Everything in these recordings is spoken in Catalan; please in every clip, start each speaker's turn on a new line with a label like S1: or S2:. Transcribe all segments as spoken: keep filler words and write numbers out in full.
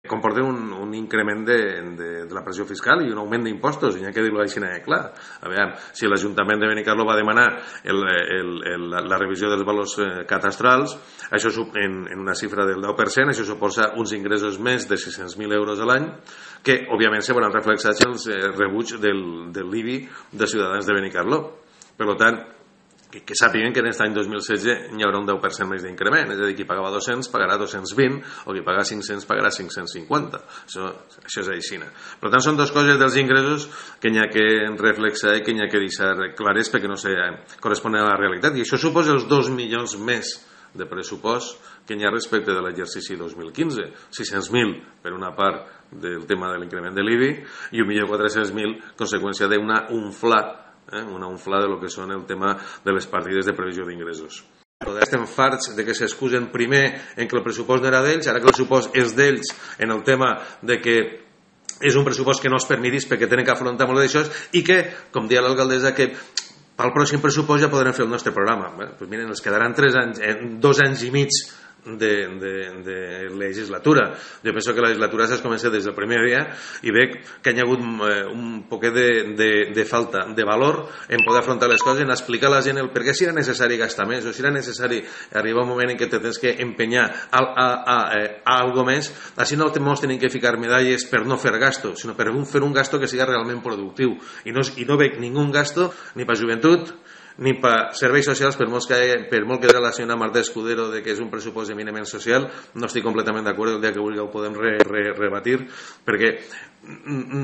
S1: comporten un, un increment de, de, de la pressió fiscal i un augment d'impostos, i n'hi ha que dir-ho així, eh, clar. A veure, si l'Ajuntament de Benicarló va demanar el, el, el, la revisió dels valors eh, catastrals, això en, en una xifra del deu per cent, això suposa uns ingressos més de sis-cents mil euros a l'any, que òbviament se veuran reflexats en els eh, rebuig del, del l'I B I de ciutadans de Benicarló. Per tant, que, que sàpiguen que en aquest any dos mil setze hi haurà un deu per cent més d'increment, és a dir, qui pagava dos-cents pagarà dos-cents vint, o qui pagava cinc-cents pagarà cinc-cents cinquanta. Això, això és així. Per tant, són dues coses dels ingressos que n'hi ha que reflexar i que n'hi ha que deixar clares perquè no se corresponen a la realitat. I això suposa els dos milions més de pressupost que n'hi ha respecte de l'exercici dos mil quinze. sis-cents mil per una part del tema de l'increment de l'I B I i un milió quatre-cents mil conseqüència d'una unfla Eh, una unfla de lo que són el tema de les partides de previsió d'ingressos. Estem farts de que s'excusen primer en que el pressupost no era d'ells, ara que el pressupost és d'ells en el tema de que és un pressupost que no es permetís perquè tenen que afrontar molt d'això i que, com deia l'alcaldessa, que pel pròxim pressupost ja podrem fer el nostre programa. Bé, doncs miren, els quedaran tres anys, dos anys i mig De, de, de legislatura. Jo penso que la legislatura s'ha començat des del primer dia i veig que hi ha hagut un poquet de, de, de falta de valor en poder afrontar les coses, en explicar a la gent el per què si era necessari gastar més o si era necessari arribar un moment en què te tens que empenyar a, a, a, a algo més. Així no ens tenim que ficar medalles per no fer gasto, sinó per fer un gasto que sigui realment productiu. I no, i no veig ningú gasto ni per joventut ni per serveis socials, per molt que, per molt que de la senyora Marta Escudero de que és un pressupost eminentment social, no estic completament d'acord, el dia que vulgui ho podem re, re, rebatir, perquè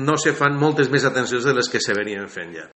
S1: no se fan moltes més atencions de les que se venien fent ja.